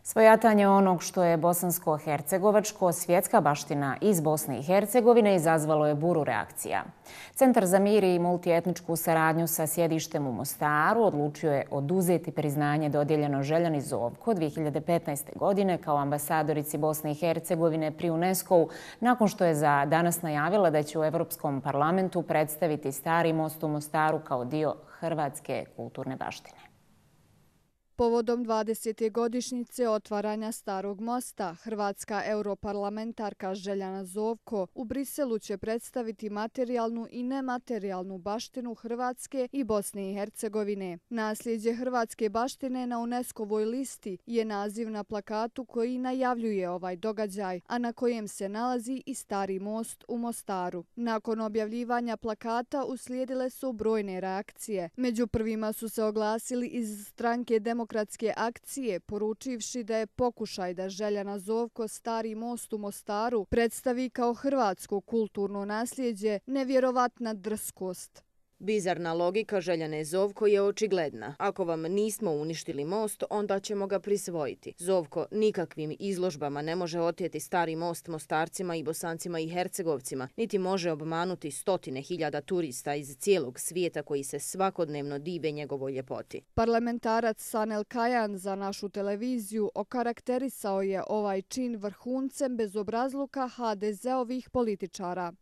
Svojatanje onog što je bosansko-hercegovačko svjetska baština iz Bosne i Hercegovine izazvalo je buru reakcija. Centar za mir i multietničku saradnju sa sjedištem u Mostaru odlučio je oduzeti priznanje dodijeljeno Željani Zovko 2015. godine kao ambasadorici Bosne i Hercegovine pri UNESCO-u nakon što je za danas najavila da će u Evropskom parlamentu predstaviti Stari most u Mostaru kao dio hrvatske kulturne baštine. Povodom 20. godišnjice otvaranja Starog mosta, hrvatska europarlamentarka Željana Zovko u Briselu će predstaviti materijalnu i nematerijalnu baštinu Hrvatske i Bosne i Hercegovine. Nasljeđe hrvatske baštine na UNESCO-voj listi je naziv na plakatu koji najavljuje ovaj događaj, a na kojem se nalazi i Stari most u Mostaru. Nakon objavljivanja plakata uslijedile su brojne reakcije. Među prvima su se oglasili iz stranke Demokratske akcije, poručivši da je pokušaj da Željana Zovko Stari most u Mostaru predstavi kao hrvatsko kulturno nasljeđe nevjerovatna drskost. Bizarna logika Željane Zovko je očigledna. Ako vam nismo uništili most, onda ćemo ga prisvojiti. Zovko nikakvim izložbama ne može oteti Stari most Mostarcima i Bosancima i Hercegovcima, niti može obmanuti stotine hiljada turista iz cijelog svijeta koji se svakodnevno dive njegovoj ljepoti. Parlamentarac Sanel Kajan za našu televiziju okarakterisao je ovaj čin vrhuncem bezobrazluka HDZ-ovih političara.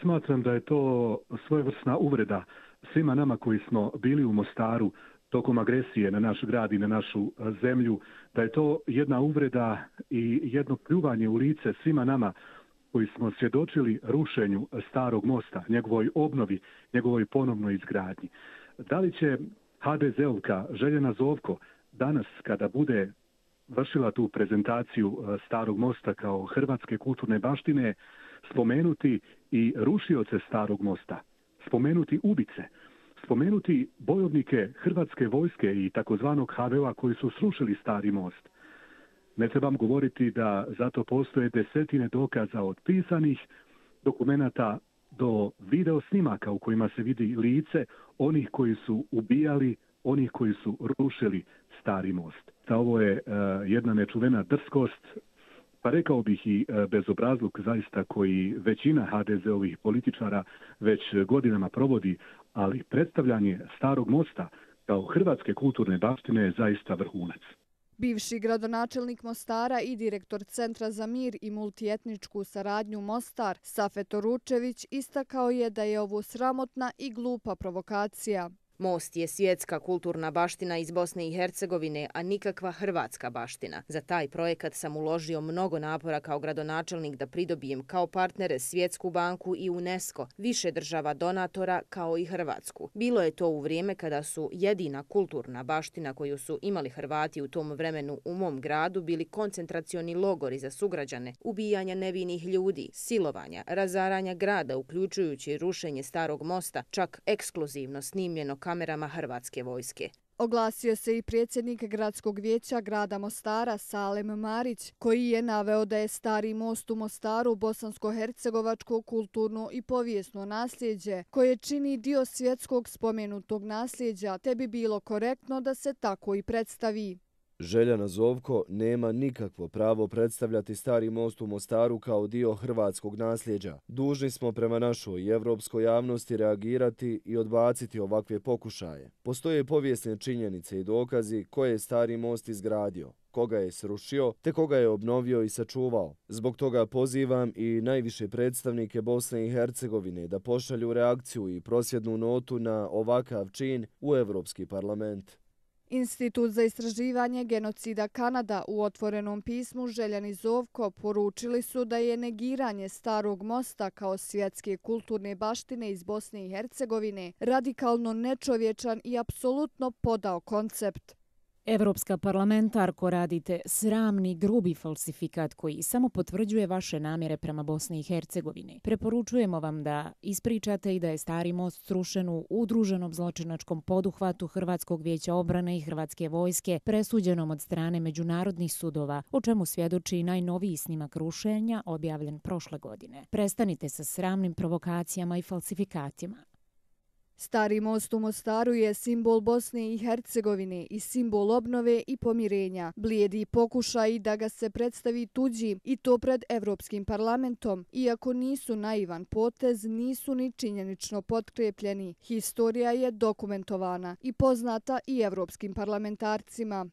Smatram da je to svojevrsna uvreda svima nama koji smo bili u Mostaru tokom agresije na naš grad i na našu zemlju, da je to jedna uvreda i jedno pljuvanje u lice svima nama koji smo svjedočili rušenju Starog mosta, njegovoj obnovi, njegovoj ponovnoj izgradnji. Da li će HDZ-ovka Željana Zovko danas kada bude vršila tu prezentaciju Starog mosta kao hrvatske kulturne baštine spomenuti i rušioce Starog mosta, spomenuti ubice, spomenuti bojovnike hrvatske vojske i takozvanog HVO-a koji su srušili Stari most? Ne trebam govoriti da zato postoje desetine dokaza od pisanih dokumenata do video snimaka u kojima se vidi lice onih koji su ubijali, onih koji su rušili Stari most. Ovo je jedna nečuvena drskost, pa rekao bih i bezobrazluk zaista koji većina HDZ-ovih političara već godinama provodi, ali predstavljanje Starog mosta kao hrvatske kulturne baštine je zaista vrhunac. Bivši gradonačelnik Mostara i direktor Centra za mir i multietničku saradnju Mostar, Safet Oručević, istakao je da je ovo sramotna i glupa provokacija. Most je svjetska kulturna baština iz Bosne i Hercegovine, a nikakva hrvatska baština. Za taj projekat sam uložio mnogo napora kao gradonačelnik da pridobijem kao partnere Svjetsku banku i UNESCO, više država donatora kao i Hrvatsku. Bilo je to u vrijeme kada su jedina kulturna baština koju su imali Hrvati u tom vremenu u mom gradu bili koncentracioni logori za sugrađane, ubijanja nevinih ljudi, silovanja, razaranja grada, uključujući rušenje Starog mosta, čak ekskluzivno snimljeno kamerama hrvatske vojske. Oglasio se i predsjednik gradskog vijeća grada Mostara Salem Marić, koji je naveo da je Stari most u Mostaru bosansko-hercegovačko kulturno i povijesno nasljeđe, koje čini dio svjetskog spomenutog nasljeđa, te bi bilo korektno da se tako i predstavi. Željana Zovko nema nikakvo pravo predstavljati Stari most u Mostaru kao dio hrvatskog nasljeđa. Dužni smo prema našoj i evropskoj javnosti reagirati i odbaciti ovakve pokušaje. Postoje povijesne činjenice i dokazi koje je Stari most izgradio, koga je srušio, te koga je obnovio i sačuvao. Zbog toga pozivam i najviše predstavnike Bosne i Hercegovine da pošalju reakciju i prosvjednu notu na ovakav čin u Evropski parlament. Institut za istraživanje genocida Kanada u otvorenom pismu Željani Zovko poručili su da je negiranje Starog mosta kao svjetske kulturne baštine iz Bosne i Hercegovine radikalno nečovječan i apsolutno podao koncept. Evropska parlamentarko, radite sramni, grubi falsifikat koji samo potvrđuje vaše namjere prema Bosni i Hercegovini. Preporučujemo vam da ispričate i da je Stari most srušen u udruženom zločinačkom poduhvatu Hrvatskog vijeća obrane i Hrvatske vojske, presuđenom od strane međunarodnih sudova, o čemu svjedoči i najnoviji snimak rušenja objavljen prošle godine. Prestanite sa sramnim provokacijama i falsifikatima. Stari most u Mostaru je simbol Bosne i Hercegovine i simbol obnove i pomirenja. Blijedi pokušaj da ga se predstavi tuđim i to pred Evropskim parlamentom. Iako nisu naivan potez, nisu ni činjenično potkrepljeni. Historija je dokumentovana i poznata i evropskim parlamentarcima.